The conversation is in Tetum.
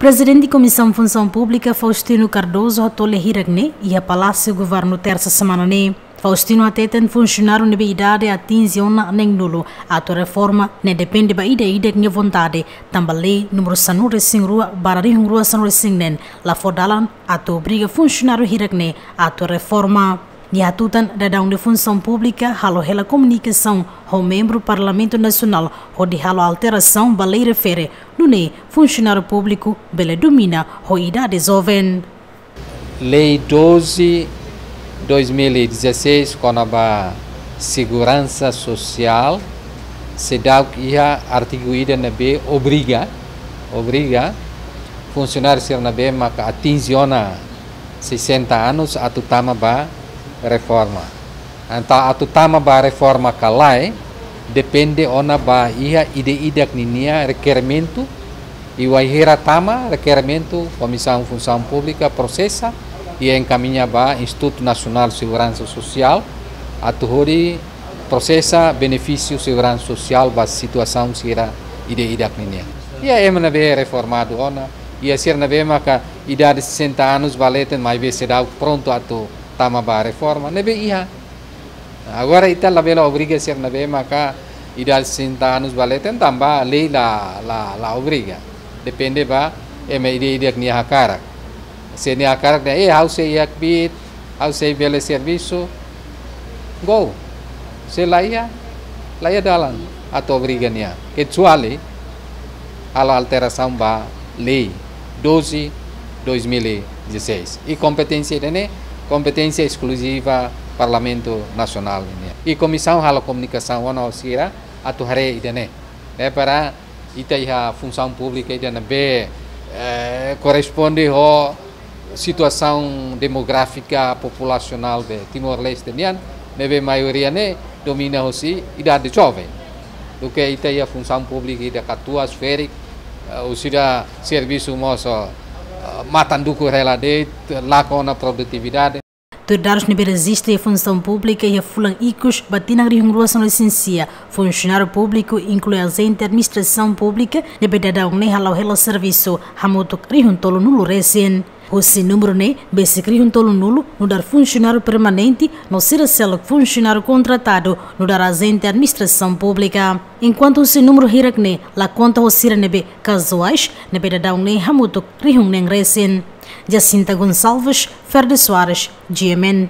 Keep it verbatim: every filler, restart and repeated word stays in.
Prezidente Komisaun Funsaun Públika, Faustino Cardoso, hato'o lia hirak ne'e iha Palásiu Governu, Tersa semana ne'e. Faustino hateten funsionáriu ne'ebé idade atinje ona neen-nulu atu reforma ne'e depende ba ida-idak nia vontade, tanba lei númeru sanulu-resin-rua barra rihun rua sanulu-resin-neen la fó dalan atu obriga funsionáriu hirak ne'e atu reforma. Nia hatutan daudaun ne'e Funsaun Públika halo hela komunikasaun ho membru Parlamentu Nasionál hodi halo alterasaun ba lei refere, nune'e funsionáriu públiku bele domina ho idade joven. Lei doze, dois mil e dezasseis, kona-ba seguransa sosiál, seidauk iha artigu ida ne'ebé obriga, obriga funsionáriu sira ne'ebé maka atinje ona sessenta anos atu tama ba reforma. Entaun atu tama ba reforma ka lae, depende ona ba iha ida-idak ninia rekerimentu, i wainhira tama rekerimentu, Komisaun Funsaun Públika prosesa i enkamiña ba Institutu Nasionál Seguransa Sosiál, atu hodi prosesa benefísiu seguransa sosiál ba situasaun sira ida-idak ninia. Iha ema ne'ebé reformadu ona, iha sira ne'ebé maka idade sessenta anos ba leten, maibé seidauk prontu atu tama ba reforma, ne'ebé iha. Agora ita labele obriga sira ne'ebé maka idade sessenta anos ba leten, tanba lei la, la, la obriga. Depende ba ema ida-idak nia hakarak. Se nia hakarak dehan, eh, ha'u sei iha kbiit, ha'u sei bele servisu, go. Se la iha, la iha dalan atu obriga nia. Kecuali halo alterasaun ba lei doze, dois mil e dezasseis. I kompeténsia ida-ne'e kompeténsia eskluziva Parlamentu Nasionál nian. I komisaun halo komunikasaun ona ho sira atu haree ida-ne'e. Ne'e para ita iha funsaun públika ida ne'ebé, eh, korresponde ho situasaun demográfika populasionál de Timor-Leste nian, ne'ebé maioria ne'e domina hosi idade joven. Duké ita iha funsaun públika ida katuas ferik, eh, orsida servisu mós, eh, matan dukur hela de'it, lakon ona produtividade. Tuir dadus ne'ebé rejista iha funsaun públika iha fulan ikus ba tinan rihun rua sanulu-resin-sia, funsionáriu públiku, inklui ajente administrasaun públika, ne'ebé daudaun ne'e hala'o hela servisu hamutuk rihun tolunulu resin. Husi númeru ne'e, besik rihun tolunulu nu'udar funsionáriu permanente, no sira seluk funsionáriu kontratadu nu'udar ajente administrasaun públika. Enkuantu husi númeru hirak ne'e la konta ho sira ne'ebé kazuais, ne'ebé daudaun ne'e hamutuk rihun neen resin. Jacinta Gonçalves, Ferde Soares, G M N.